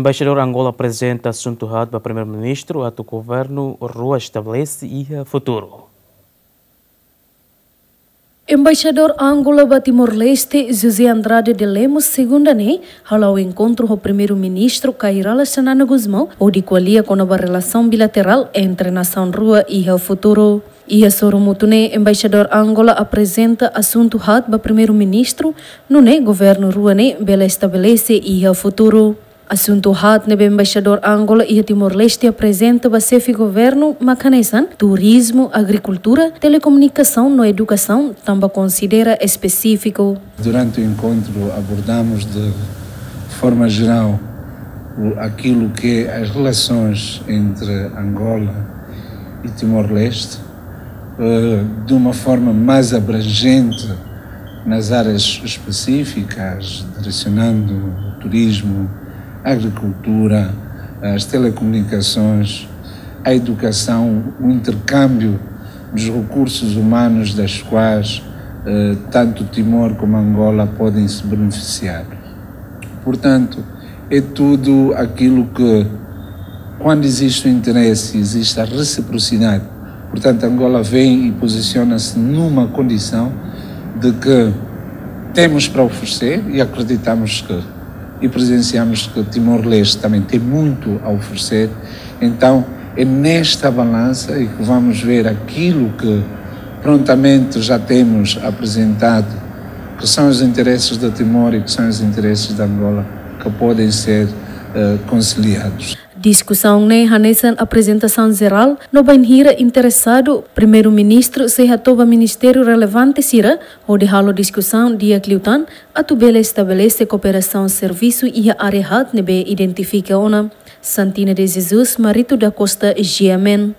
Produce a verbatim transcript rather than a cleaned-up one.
Embaixadór Angola aprezenta asuntu haat ba Primeiru-Ministru atu governu rua estabelese iha futuru. Embaixadór Angola ba Timor-Leste, José Andrade de Lemos, segunda ne'e hala'o enkontru ho Primeiru-Ministru Kay Rala Xanana Gusmão, hodi ko'alia kona-ba relasaun bilaterál entre nasaun rua iha futuru. Iha sorumutu ne'e, Embaixadór Angola aprezenta asuntu haat ba Primeiru-Ministru, nune'e governu rua ne'e bele estabelese iha futuru. Asuntu haat ne'ebé Embaixadór Angola iha Timor-Leste aprezenta ba xefe governu mak hanesan turizmu, agrikultura, telekomunikasaun no edukasaun, tanba konsidera espesífiku. Durante o encontro abordamos de forma geral o, aquilo que é as relações entre Angola e Timor-Leste, eh, de uma forma mais abrangente nas áreas específicas, direcionando o turismo, a agricultura, as telecomunicações, a educação, o intercâmbio dos recursos humanos das quais, eh, tanto Timor como Angola podem se beneficiar. Portanto, é tudo aquilo que, quando existe o interesse, existe a reciprocidade. Portanto, Angola vem e posiciona-se numa condição de que temos para oferecer e acreditamos que, e presenciamos que Timor-Leste também tem muito a oferecer. Então, é nesta balança e que vamos ver aquilo que prontamente já temos apresentado, que são os interesses de Timor e que são os interesses de Angola, que podem ser, eh, conciliados. Diskusaun ne'e hanesan aprezentasaun jerál, no bainhira interesadu, Primeiru-Ministru sei hato'o ba ministériu relevante sira, hodi halo diskusaun di'ak liután, atu bele estabelese kooperasaun servisu iha área haat ne'ebé identifika ona. Santina de Jesus, Marito da Costa, G M N.